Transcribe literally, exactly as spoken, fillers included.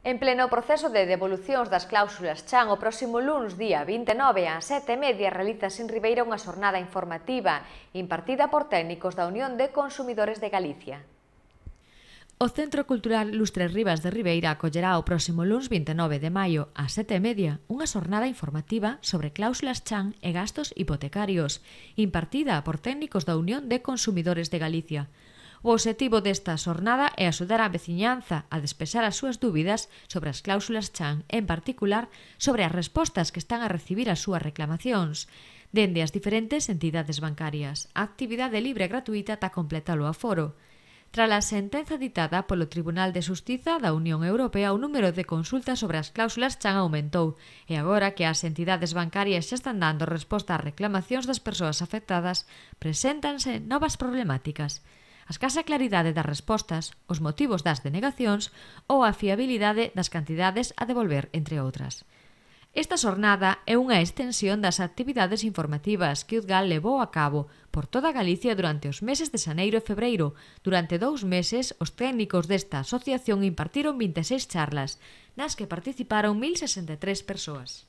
En pleno proceso de devolucións das cláusulas Chan, o próximo luns, día vinte e nove, ás sete e media, realizase en Ribeira unha xornada informativa impartida por técnicos da Unión de Consumidores de Galicia. O Centro Cultural Lustre Rivas de Ribeira acollerá o próximo luns vinte e nove de maio ás sete e media unha xornada informativa sobre cláusulas Chan e gastos hipotecarios, impartida por técnicos da Unión de Consumidores de Galicia. O obxectivo desta xornada é axudar a veciñanza a despexar as súas dúbidas sobre as cláusulas Chan, en particular sobre as respostas que están a recibir as súas reclamacións, dende as diferentes entidades bancarias. A actividade libre e gratuita está completa o aforo. Tras a sentenza ditada polo Tribunal de Xustiza da Unión Europea, o número de consultas sobre as cláusulas Chan aumentou, e agora que as entidades bancarias xa están dando resposta ás reclamacións das persoas afectadas, preséntanse novas problemáticas: a escasa claridade das respostas, os motivos das denegacións ou a fiabilidade das cantidades a devolver, entre outras. Esta xornada é unha extensión das actividades informativas que UDGAL levou a cabo por toda Galicia durante os meses de xaneiro e febreiro. Durante dous meses, os técnicos desta asociación impartiron vinte e seis charlas, nas que participaron mil sesenta e tres persoas.